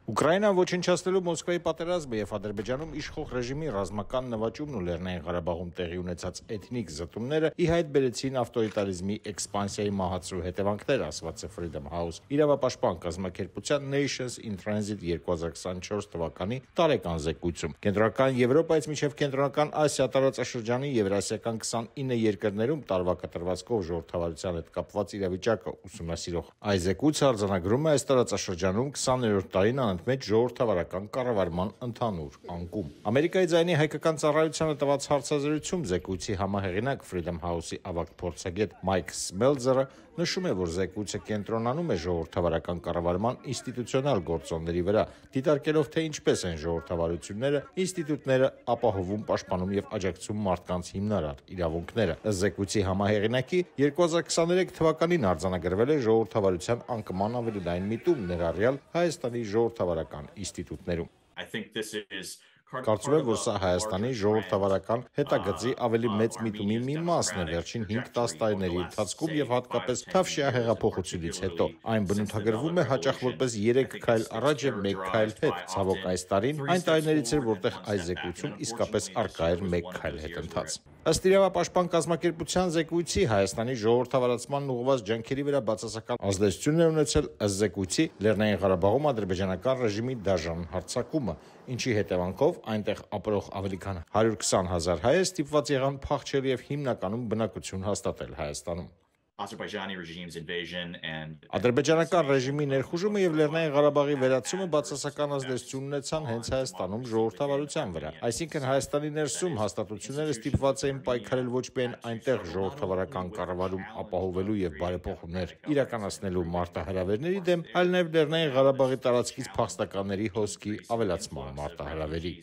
Ուկրաինան ոչնչացնելու Մոսկվայի պատերազմը եւ Ադրբեջանում իշխող ռեժիմի ռազմական նվաճումն ու Լեռնային Ղարաբաղում տեղի ունեցած էթնիկ զտումները ի հայտ բերեցին ավտորիտարիզմի էքսպանսիայի մահացու հետևանքները, ասված է Freedom House իրավապաշտպան կազմակերպության Nations in Transit 2024 թվականի տարեկան զեկույցում։ Կենտրոնական Եվրոպայից մինչև Կենտրոնական Ասիա տարածաշրջանի եվրասիական 29 երկրներում տարվա կտրվածքով ժողովրդավարության հետ կապված իրավիճակը ուսումնասիրող այս զեկույցը արձանագրում է այս տարածաշրջանում 20-րդ տարին մեջ ժողովրդավարական կառավարման ընդհանուր անկում։ Ամերիկայի ձայնի հայկական ծառայությանը տված հարցազրույցում զեկույցի համահեղինակ Freedom House-ի ավագ փորձագետ Մայք Սմելձերը նշում է, որ զեկույցը կենտրոնանում է ժողովրդավարական կառավարման ինստիտուցիոնալ գործոնների վրա, դիտարկելով թե ինչպես են ժողովրդավարությունները, ինստիտուտները ապահովում, պաշտպանում եւ աջակցում մարդկանց հիմնարար իրավունքները։ Ըստ զեկույցի համահեղինակի 2023 թվականին արձանագրվել է ժողովրդավարության անկման ավելի լայն միտում, ներառյալ Հայաստանի ժողովրդավարական ինստիտուտներում։ Կարծում եմ, որ սա Հայաստանի ժողովրդավարական հետագծի ավելի մեծ միտումի մի մասն է վերջին 5-10 տարիների ընթացքում եւ հատկապես Թավշյա հեղափոխությունից հետո։ Այն բնութագրվում է հաճախ որպես 3 քայլ առաջ եւ 1 քայլ հետ։ Ցավոք այս տարին այն տարիներից էր, որտեղ այս զեկույցում իսկապես առկա էր 1 քայլ հետընթաց։ Ըստ իրավապաշտպան կազմակերպության զեկույցի Հայաստանի ժողովրդավարացման ուղղված ջանքերի վրա բացասական ազդեցություն է ունեցել ըստ զեկույցի Լեռնային Ղարաբաղում ադրբեջանական ռեժիմի դաժան հարձակումը, ինչի հետևանքով այնտեղ ապրող ավելի քան 120,000 հայեր ստիպված եղան փախչել եւ հիմնականում բնակություն հաստատել Հայաստանում։ Ադրբեջանական ռեժիմի ներխուժումը եւ Լեռնային Ղարաբաղի վերացումը բացասական ազդեցություն ունեցան հենց Հայաստանում ժողովրդավարության վրա։ Այսինքն Հայաստանի ներսում հաստատությունները ստիպված էին պայքարել ոչ միայն այնտեղ ժողովրդավարական կառավարում ապահովելու եւ բարեփոխումներ իրականացնելու մարտահրավերների դեմ, այլ նաեւ Լեռնային Ղարաբաղի տարածքից փախստականների հոսքի ավելացման մարտահրավերի։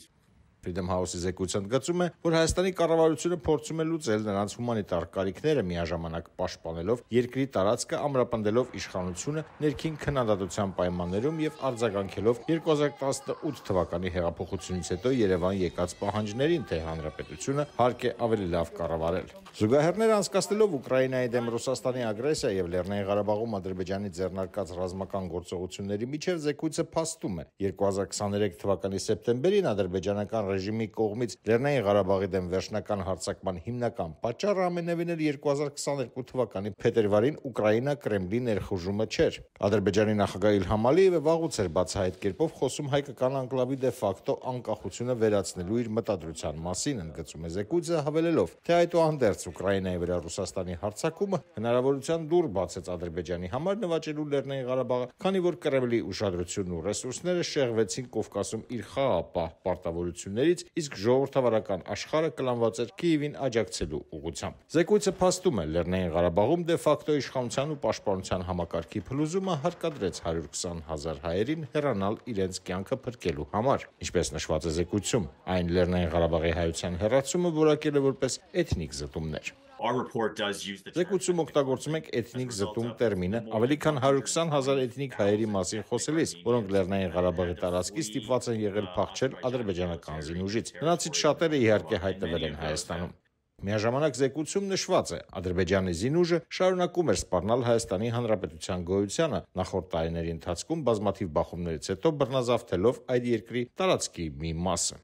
Freedom House-ի զեկույցը ընդգծում է, որ Հայաստանի կառավարությունը փորձում է լուծել նրանց հումանիտար կարիքները միաժամանակ պաշտպանելով երկրի տարածքը, ամրապնդելով իշխանությունը ներքին քննադատության պայմաններում եւ արձագանքելով 2018 թվականի հեղափոխությունից հետո Երևան եկած պահանջներին, թե հանրապետությունը հարկ է ավելի լավ կառավարել։ Զուգահեռներ անցկացնելով Ուկրաինայի դեմ Ռուսաստանի ագրեսիա եւ Լեռնային Ղարաբաղում Ադրբեջանի ձեռնարկած ռազմական գործողությունների միջև զեկույցը փաստում է 2023 թվականի սեպտեմբերին ադրբեջանական ռեժիմի կողմից Լեռնային Ղարաբաղի դեմ վերջնական հարձակման հիմնական պատճառը ամենևին էլ 2022 թվականի փետրվարին Ուկրաինա Կրեմլի ներխուժումը չէր։ Ադրբեջանի նախագահ Իլհամ Ալիևը վաղուց էր բացահայտ կերպով խոսում հայկական անկլավի դե ֆակտո անկախությունը վերացնելու իր մտադրության մասին, ընդգծում է զեկույցը, հավելելով, թե այդուհանդերձ Ուկրաինայի վրա Ռուսաստանի հարձակումը հնարավորության դուռ բացեց Ադրբեջանի համար նվաճելու Լեռնային Ղարաբաղը, քանի որ Կրեմլի ուշադրությունն ու ռեսուրսները շեղվեցին Կովկասում իր խաղաղապահ պարտավորություններից, իսկ ժողովրդավարական աշխարհը կլանված էր Կիևին աջակցելու ուղղությամբ։ Զեկույցը փաստում է Լեռնային Ղարաբաղում դե ֆակտո իշխանության ու պաշտպանության համակարգի փլուզումը հարկադրեց 120,000 հայերին հեռանալ իրենց կյանքը փրկելու համար։ Ինչպես նշված է զեկույցում, այն Լեռնային Ղարաբաղի հայության հեռացումը որակել է որպես էթնիկ զտումներ։ Զեկույցում օգտագործում ենք էթնիկ զտում տերմինը ավելի քան 120,000 էթնիկ հայերի մասին խոսելիս, որոնք Լեռնային Ղարաբաղի տարածքից ստիպված են եղել փախչել ադրբեջանական զինուժից։ Նրանցից շատերը իհարկե հայտնվել են Հայաստանում։ Միաժամանակ զեկույցում նշված է, Ադրբեջանի զինուժը շարունակում էր սպառնալ Հայաստանի Հանրապետության գոյությանը նախորդ տարիների ընթացքում բազմաթիվ բախումներից հետո բռնազավթելով այդ երկրի տարածքի մի մասը։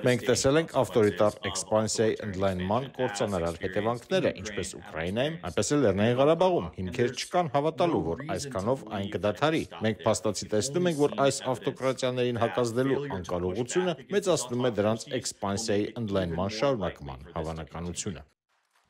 Մենք տեսել ենք ավտորիտար էքսպանսիայի ընդլայնման կործանարար հետևանքները, ինչպես Ուկրաինայում, այնպես էլ Լեռնային Ղարաբաղում։ Հիմքեր չկան հավատալու, որ այսքանով այն կդադարի։ Մենք փաստացի տեսնում ենք, որ այս ավտոկրատիաներին հակազդելու անկարողությունը մեծացնում է դրանց էքսպանսիայի ընդլայնման շարունակման հավանականությունը։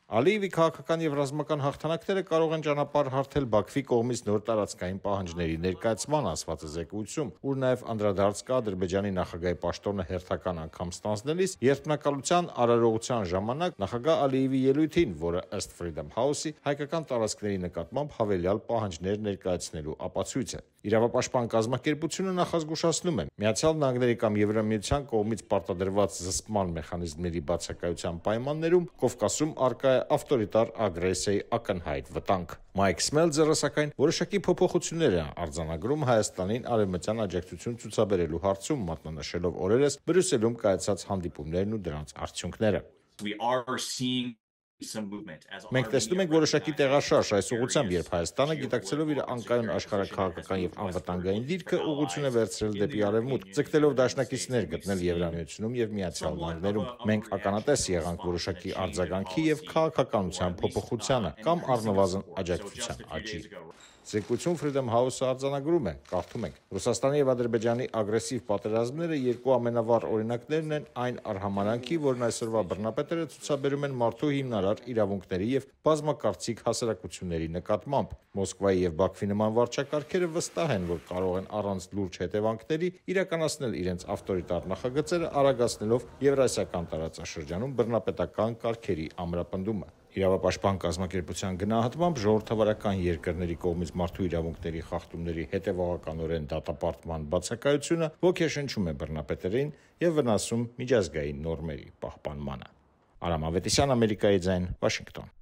Ալիևի քաղաքական եւ ռազմական հաղթանակները կարող են ճանապարհ հարթել Բաքվի կողմից նոր տարածքային պահանջների ներկայացման, ասված է զեկույցում, ուր նաեւ անդրադարձ կա Ադրբեջանի նախագահի պաշտոնը հերթական անգամ ստանձնելիս երթմնակալության արարողության ժամանակ նախագահ Ալիևի ելույթին, որը ըստ Freedom House-ի հայկական տարածքների նկատմամբ հավելյալ պահանջներ ներկայացնելու ապացույց է։ Իրավապաշտպան կազմակերպությունը նախազգուշացնում է, Միացյալ Նահանգների կամ Եվրամիության կողմից պարտադրված զսպման մեխանիզմների բացակայության պայմաններում Կովկասում առկա է ավտորիտար ագրեսիայի ակնհայտ վտանգ։ Մայք Սմելձերը, սակայն, որոշակի փոփոխություններ է արձանագրում Հայաստանին արևմտյան աջակցություն ցուցաբերելու հարցում, մատնանշելով օրերս Բրյուսելում կայացած հանդիպումներն ու դրանց արդյունքները։ Մենք տեսնում ենք որոշակի տեղաշարժ այս ուղղությամբ, երբ Հայաստանը, գիտակցելով իր անկայուն աշխարհաքաղաքական եւ անվտանգային դիրքը, ուղղություն է վերցրել դեպի արևմուտք, ձգտելով դաշնակիցներ գտնել Եվրամիությունում եւ Միացյալ Նահանգներում։ Մենք ականատես եղանք որոշակի արձագանքի եւ քաղաքականության փոփոխությանը կամ առնվազն աջակցության աճի։ Զեկույցում Freedom House-ը արձանագրում է, կարդում ենք. Ռուսաստանի եւ Ադրբեջանի ագրեսիվ պատերազմները երկու ամենավառ օրինակներն են այն արհամարանքի, որն այսօրվա բռնապետերը ցուցաբերում են մարդու հիմնարար իրավունքների եւ բազմակարծիք հասարակությունների նկատմամբ։ Մոսկվայի եւ Բաքվի նման վարչակարգերը վստահ են, որ կարող են առանց լուրջ հետևանքների իրականացնել իրենց ավտորիտար նախագծերը, արագացնելով Եվրասիական տարածաշրջանում բռնապետական կարգերի ամրապնդումը։ Իրավապաշտպան կազմակերպության գնահատմամբ ժողովրդավարական երկրների կողմից մարդու իրավունքների խախտումների հետևողականորեն դատապարտման բացակայությունը ոգեշնչում է բռնապետերին եւ վնասում միջազգային նորմերի պահպանմանը։ Արամ Ավետիսյան, Ամերիկայի ձայն, Վաշինգտոն։